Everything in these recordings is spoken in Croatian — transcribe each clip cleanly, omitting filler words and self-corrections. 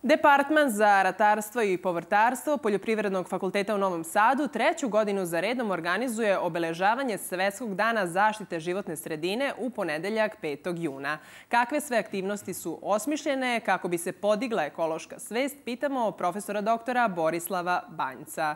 Departman za ratarstvo i povrtarstvo Poljoprivrednog fakulteta u Novom Sadu treću godinu za redom organizuje obeležavanje Svetskog dana zaštite životne sredine u ponedeljak 5. juna. Kakve sve aktivnosti su osmišljene kako bi se podigla ekološka svest, pitamo profesora doktora Borislava Banjca.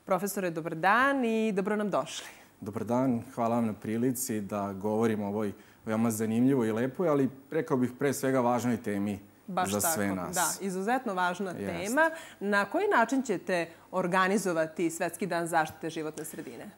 Profesore, dobar dan i dobro nam došli. Dobar dan, hvala vam na prilici da govorimo o ovoj veoma zanimljivoj i lepoj, ali rekao bih pre svega važnoj temi za sve nas. Da, izuzetno važna tema. Na koji način ćete organizovati Svetski dan zaštite životne sredine?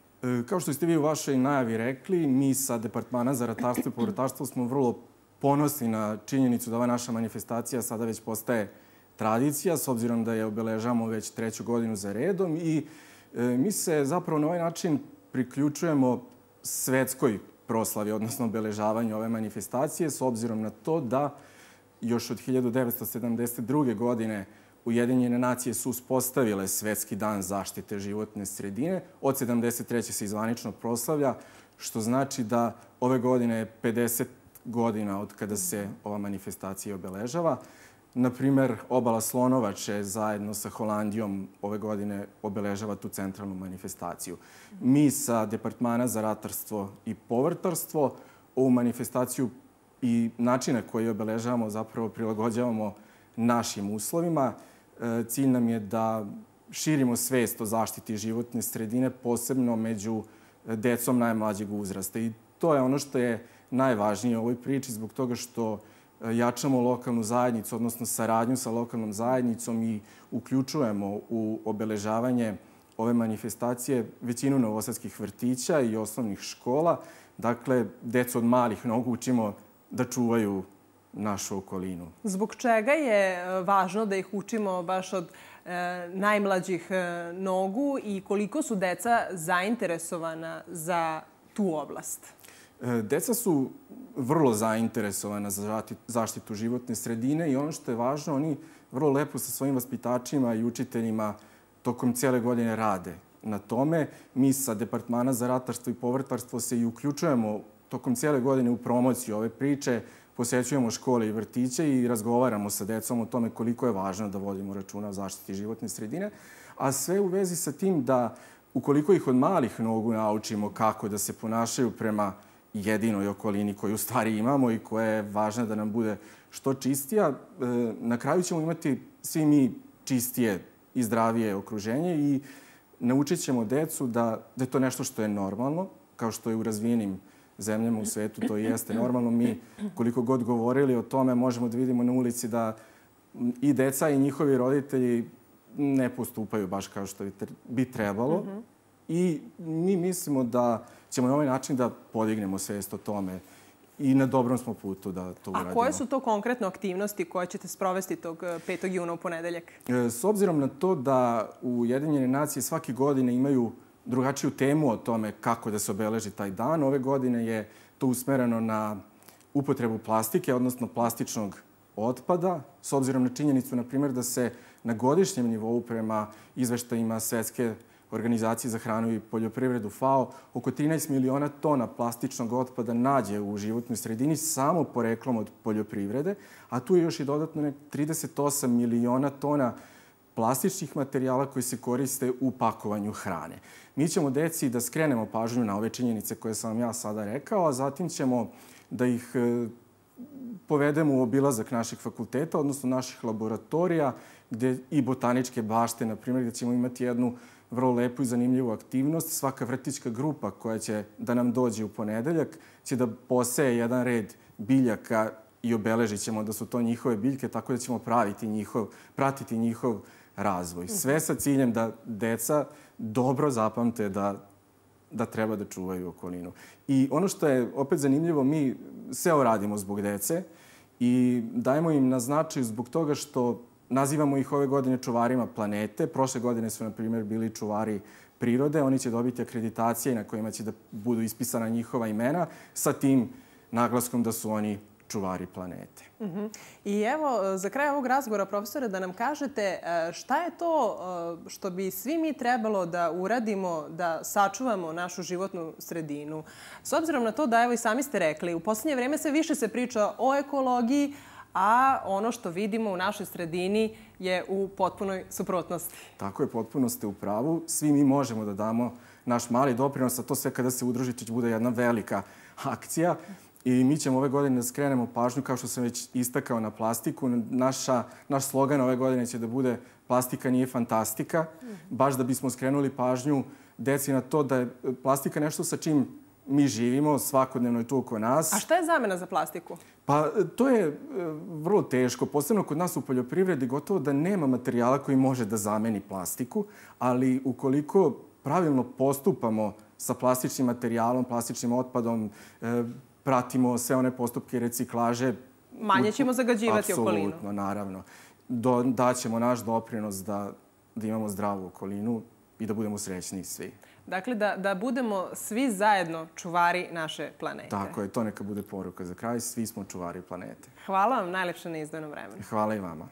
Kao što ste vi u vašoj najavi rekli, mi sa Departmana za ratarstvo i povrtarstvo smo vrlo ponosni na činjenicu da ova naša manifestacija sada već postaje tradicija, s obzirom da je obeležavamo već treću godinu za redom i mi se zapravo na ovaj način priključujemo svetskoj proslavi, odnosno obeležavanju ove manifestacije, s obzirom na to da još od 1972. godine Ujedinjene nacije su uspostavile Svetski dan zaštite životne sredine. Od 1973. se zvanično proslavlja, što znači da ove godine je 50 godina od kada se ova manifestacija obeležava. Naprimer, Obala Slonovače zajedno sa Holandijom ove godine obeležava tu centralnu manifestaciju. Mi sa Departmana za ratarstvo i povrtarstvo ovu manifestaciju i načine koje obeležavamo zapravo prilagođavamo našim uslovima. Cilj nam je da širimo svest o zaštiti životne sredine, posebno među decom najmlađeg uzrasta. I to je ono što je najvažnije u ovoj priči, zbog toga što jačamo lokalnu zajednicu, odnosno saradnju sa lokalnom zajednicom i uključujemo u obeležavanje ove manifestacije većinu novosadskih vrtića i osnovnih škola. Dakle, decu od malih nogu učimo da čuvaju našu okolinu. Zbog čega je važno da ih učimo baš od najmlađih nogu i koliko su deca zainteresovana za tu oblast? Deca su vrlo zainteresovana za zaštitu životne sredine i ono što je važno, oni vrlo lepo sa svojim vaspitačima i učiteljima tokom cijele godine rade na tome. Mi sa Departmana za ratarstvo i povrtarstvo se i uključujemo tokom cijele godine u promociju ove priče, posećujemo škole i vrtiće i razgovaramo sa decom o tome koliko je važno da vodimo računa o zaštiti životne sredine, a sve u vezi sa tim da ukoliko ih od malih nogu naučimo kako da se ponašaju prema jedinoj okolini koju u stvari imamo i koja je važna da nam bude što čistija, na kraju ćemo imati svi mi čistije i zdravije okruženje i naučit ćemo decu da je to nešto što je normalno, kao što je u razvijenim zemljama u svetu, to jeste normalno. Mi, koliko god govorili o tome, možemo da vidimo na ulici da i deca i njihovi roditelji ne postupaju baš kao što bi trebalo. I mi mislimo da ćemo na ovaj način da podignemo svest o tome i na dobrom smo putu da to uradimo. A koje su to konkretno aktivnosti koje ćete sprovesti tog 5. juna u ponedeljak? S obzirom na to da Ujedinjene nacije svake godine imaju drugačiju temu o tome kako da se obeleži taj dan, ove godine je to usmereno na upotrebu plastike, odnosno plastičnog otpada, s obzirom na činjenicu, na primjer, da se na godišnjem nivou prema izveštajima Svetske organizacije za hranu i poljoprivredu FAO oko 13 miliona tona plastičnog otpada nađe u životnoj sredini samo poreklom od poljoprivrede, a tu je još i dodatno 38 miliona tona plastičnih materijala koji se koriste u pakovanju hrane. Mi ćemo deci da skrenemo pažnju na ove činjenice koje sam vam ja sada rekao, a zatim ćemo da ih povedemo u obilazak naših fakulteta, odnosno naših laboratorija i botaničke bašte, na primjer, gdje ćemo imati jednu vrlo lepu i zanimljivu aktivnost. Svaka vrtićka grupa koja će da nam dođe u ponedeljak će da poseje jedan red biljaka i obeležit ćemo da su to njihove biljke, tako da ćemo pratiti njihov razvoj. Sve sa ciljem da deca dobro zapamte da treba da čuvaju okolinu. I ono što je opet zanimljivo, mi sve ovo radimo zbog dece i dajemo im na značaju zbog toga što nazivamo ih ove godine čuvarima planete. Prošle godine su, na primjer, bili čuvari prirode. Oni će dobiti akreditacije na kojima će da budu ispisana njihova imena sa tim naglaskom da su oni čuvari planete. I evo, za kraj ovog razgovora, profesore, da nam kažete šta je to što bi svi mi trebalo da uradimo da sačuvamo našu životnu sredinu. S obzirom na to da, evo i sami ste rekli, u posljednje vreme sve više se priča o ekologiji, a ono što vidimo u našoj sredini je u potpunoj suprotnosti. Tako je, potpuno ste u pravu. Svi mi možemo da damo naš mali doprinos, a to sve kada se udružite će bude jedna velika akcija. I mi ćemo ove godine da skrenemo pažnju, kao što sam već istakao, na plastiku. Naš slogan ove godine će da bude plastika nije fantastika, baš da bismo skrenuli pažnju deci na to da je plastika nešto sa čim mi živimo, svakodnevno je tu oko nas. A šta je zamena za plastiku? Pa to je vrlo teško. Posebno kod nas u poljoprivredi gotovo da nema materijala koji može da zameni plastiku, ali ukoliko pravilno postupamo sa plastičnim materijalom, plastičnim otpadom, pratimo sve one postupke reciklaže. Manje ćemo zagađivati okolinu. Apsolutno, naravno. Daćemo naš doprinos da imamo zdravu okolinu i da budemo srećni svi. Dakle, da budemo svi zajedno čuvari naše planete. Tako je, to neka bude poruka za kraj. Svi smo čuvari planete. Hvala vam najlepše na izdvojenom vremenu. Hvala i vama.